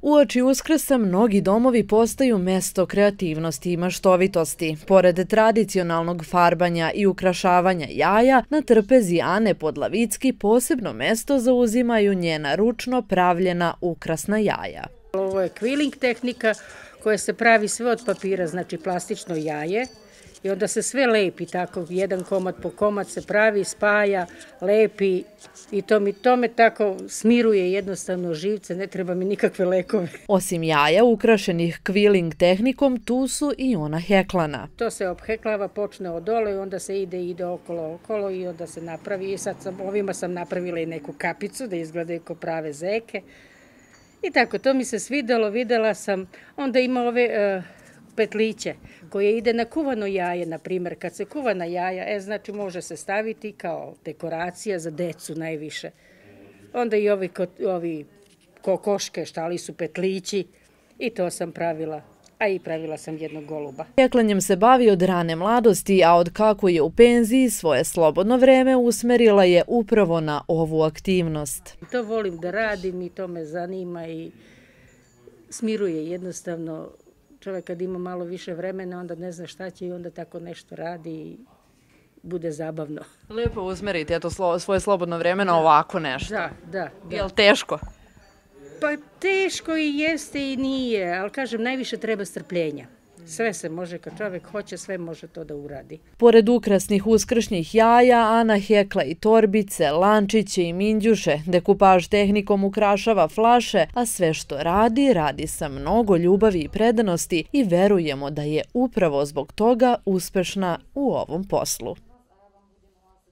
Uoči Uskrsa mnogi domovi postaju mesto kreativnosti i maštovitosti. Pored tradicionalnog farbanja i ukrašavanja jaja, na trpezi Ane Podlavicki posebno mesto zauzimaju njena ručno pravljena ukrasna jaja. Ovo je quilling tehnika koja se pravi sve od papira, znači plastično jaje. I onda se sve lepi, tako jedan komad po komad se pravi, spaja, lepi i to me tako smiruje jednostavno živce, ne treba mi nikakve lekove. Osim jaja ukrašenih quilling tehnikom, tu su i ona heklana. To se obheklava, počne od dole i onda se ide okolo i onda se napravi. I sad ovima sam napravila i neku kapicu da izgledaju kao prave zeke. I tako, to mi se svidelo, videla sam. Onda ima ove petliće koje ide na kuvano jaje, na primjer. Kad se kuvana jaja, znači može se staviti kao dekoracija za decu najviše. Onda i ovi kokoške, štali su petlići i to sam pravila. A i pravila sam jednog goluba. Heklanjem se bavi od rane mladosti, a od kako je u penziji svoje slobodno vreme usmerila je upravo na ovu aktivnost. To volim da radim i to me zanima i smiruje jednostavno. Čovjek kad ima malo više vremena, onda ne zna šta će i onda tako nešto radi i bude zabavno. Lijepo usmeriti svoje slobodno vreme na ovako nešto. Da. Je li teško? Pa teško i jeste i nije, ali kažem, najviše treba strpljenja. Sve se može, kad čovjek hoće, sve može to da uradi. Pored ukrasnih uskršnjih jaja, Ana hekla i torbice, lančiće i mindjuše, dekupaž tehnikom ukrašava flaše, a sve što radi, radi sa mnogo ljubavi i predanosti i verujemo da je upravo zbog toga uspešna u ovom poslu.